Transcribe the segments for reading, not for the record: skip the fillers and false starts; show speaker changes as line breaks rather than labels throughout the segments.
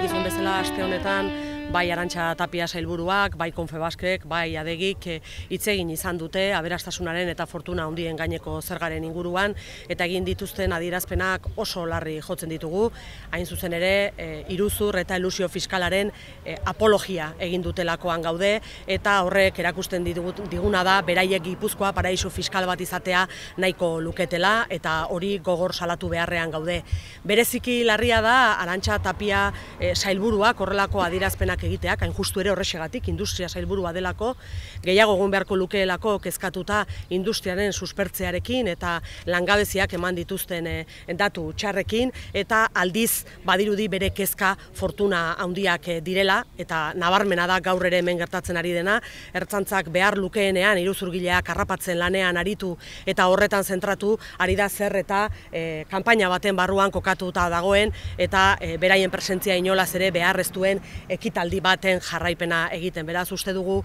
dakizuen bezala aste honetan bai Arantxa Tapia sailburuak, bai Confebaskek, bai Adegik hitz egin izan dute aberastasunaren eta fortuna handien gaineko zergaren inguruan eta egin dituzten adierazpenak oso larri jotzen ditugu. Hain zuzen ere, iruzur eta elusio fiskalaren apologia egin dutelakoan gaude eta horrek erakusten diguna da beraiek Gipuzkoa paraisu fiskal bat izatea nahiko luketela eta hori gogor salatu beharrean gaude. Bereziki larria da Arantxa Tapia sailburuak horrelako adierazpenak egiteak, hain justu ere horrexegatik industria sailburua delako, gehiago egon beharko lukeelako kezkatuta industriaren suspertzearekin eta langabeziak eman dituzten datu txarrekin eta aldiz badirudi bere kezka fortuna handiak direla eta nabarmena da gaur ere hemen gertatzen ari dena, ertzaintzak behar lukeenean iruzurgileak harrapatzen lanean aritu eta horretan zentratu ari da zer eta kanpaina baten barruan kokatuta dagoen eta beraien presentzia inolaz ere behar ez duen ekitaldi baten jarraipena egiten. Beraz, uste dugu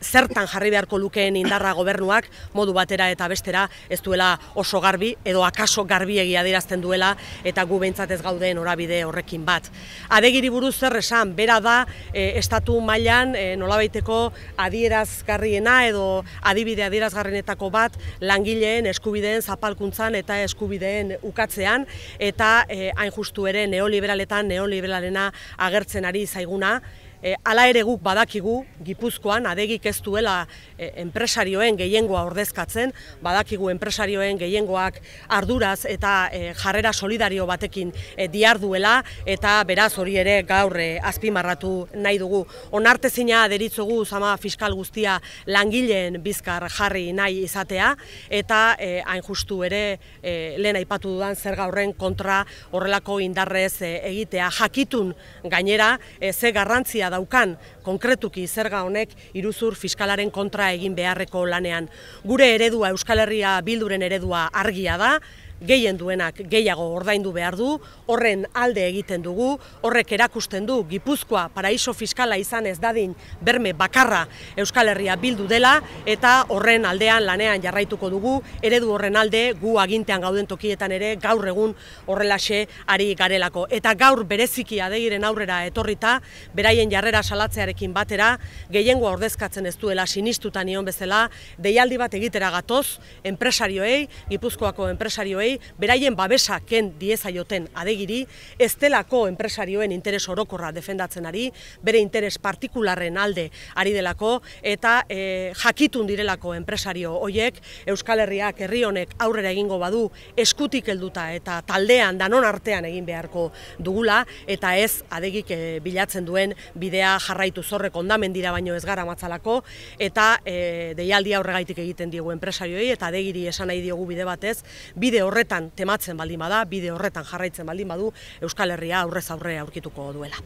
zertan jarri beharko lukeen indarra gobernuak modu batera eta bestera ez duela oso garbi edo akaso garbiegi adierazten duela eta gu behintzat ez gauden norabide horrekin bat. Adegiri buruz zer esan, bera da estatu mailan nolabaiteko adierazgarriena edo adibide adierazgarrienetako bat langileen eskubideen zapalkuntzan eta eskubideen ukatzean eta hain justu ere neoliberalena agertzen ari zaiguna. Hala ere guk badakigu Gipuzkoan Adegik ez duela enpresarioen gehiengoa ordezkatzen, badakigu enpresarioen gehiengoak arduraz eta jarrera solidario batekin diharduela eta beraz hori ere gaur azpimarratu nahi dugu. Onartezina deritzogu zama fiskal guztia langileen bizkar jarri nahi izatea eta hain justu ere lehen aipatu dudan zerga horren kontra horrelako indarrez egitea. Jakitun gainera ze garrantzia daukan konkretuki zerga honek iruzur fiskalaren kontra egin beharreko lanean. Gure eredua, Euskal Herria Bilduren eredua argia da, gehien duenak gehiago ordaindu behar du, horren alde egiten dugu, horrek erakusten du Gipuzkoa paraiso fiskala izan ez dadin berme bakarra Euskal Herria Bildu dela eta horren aldean lanean jarraituko dugu, eredu horren alde gu agintean gauden tokietan ere gaur egun horrelaxe ari garelako. Eta gaur bereziki Adegiren aurrera etorrita, beraien jarrera salatzearekin batera, gehiengoa ordezkatzen ez duela sinistuta nion bezala, deialdi bat egitera gatoz, enpresarioei, Gipuzkoako enpresarioei, beraien babesa ken diezaioten Adegiri, ez delako enpresarioen interes orokorra defendatzen ari, bere interes partikularren alde ari delako eta jakitun direlako enpresario hoiek Euskal Herriak herri honek aurrera egingo badu eskutik helduta eta taldean danon artean egin beharko dugula eta ez Adegik bilatzen duen bidea jarraitu zorrek ondamendira baino ez gara matzalako eta deialdia horregaitik egiten diegu enpresarioei eta Adegiri esan nahi diogu bide batez, bide horretan tematzen baldin bada, bide horretan jarraitzen baldin badu, Euskal Herria aurrez aurre aurkituko duela.